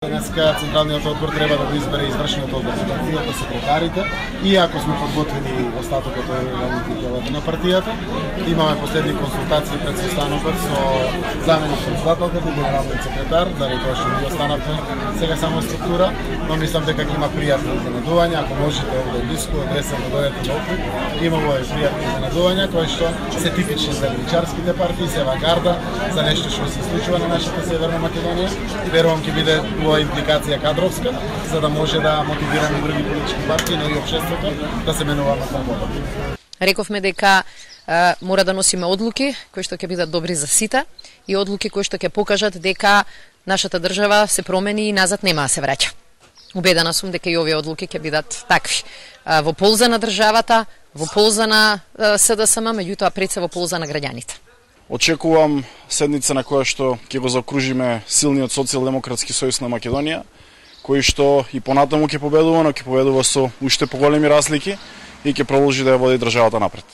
Денеска Централниот одбор треба да го избере извршниот одбор за партијата, секретарите, и ако сме подготвени остатокот од органите делата на партијата, имаме последни консултации пред состанокот со заменик председателката и генералниот секретар, заради тоа што ние останавме сега само структура, но мислам дека ќе има пријатни изненадувања, ако можете овде блиску, адресен да дојдете на Охрид, имаме пријатни изненадувања кои што се типични за левичарските партии, се авангарда за нешто што се случува на нашата Северна Македонија и верувам ќе биде импликација кадровска, за да може да мотивираме други политички партии, но и општеството да се менуваме кон победа. Рековме дека мора да носиме одлуки кои што ќе бидат добри за сите и одлуки кои што ќе покажат дека нашата држава се промени и назад нема да се враќа. Убедена сум дека и овие одлуки ќе бидат такви. Во полза на државата, во полза на СДСМ, меѓутоа пред се во полза на граѓаните. Очекувам седница на која што ќе го закружиме силниот социјалдемократски сојуз на Македонија, кој што и понатаму ќе победува, но ќе победува со уште поголеми разлики и ќе продолжи да ја води државата напред.